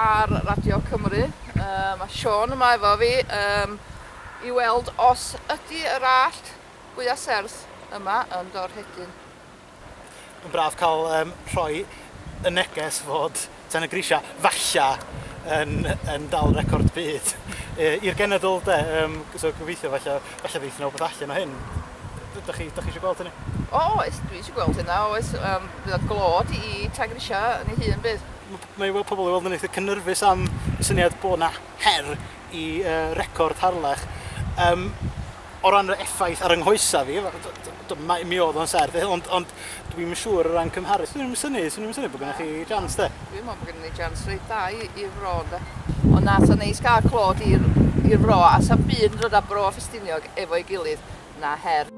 ar Radio Cymru. Mae Siôn yma efo fi i weld os ydy yr allt fwya serth yma yn Dorhedyn. Mae'n braf cael rhoi y neges fod Tanygrisiau falla yn dal record byd i'r genedl de. So gobeithio falle ddeith 'na wbath allan o hyn. Dach chi eisiau gweld hynny? O, oes, dwi eisiau gweld hynna, oes. Bydd o'n glod i Tanygrisiau yn ei hun bydd. Mae i weld pobl i weld yn eitha cynhyrfus am y syniad bod 'na her i record Harlech. O ran yr effaith ar yng nghoesa fi, mi oedd o'n serth, ond dwi'n siŵr o ran cymharu. Swn i'n synnu bod gennych chi chance de. Dwi'n meddwl bod gennym ni chance reit dda i'r fro, de. Ond na, sa'n neis gael clod i'r fro, a sa'n byd yn dod â Bro Ffestiniog efo'i gilydd na her.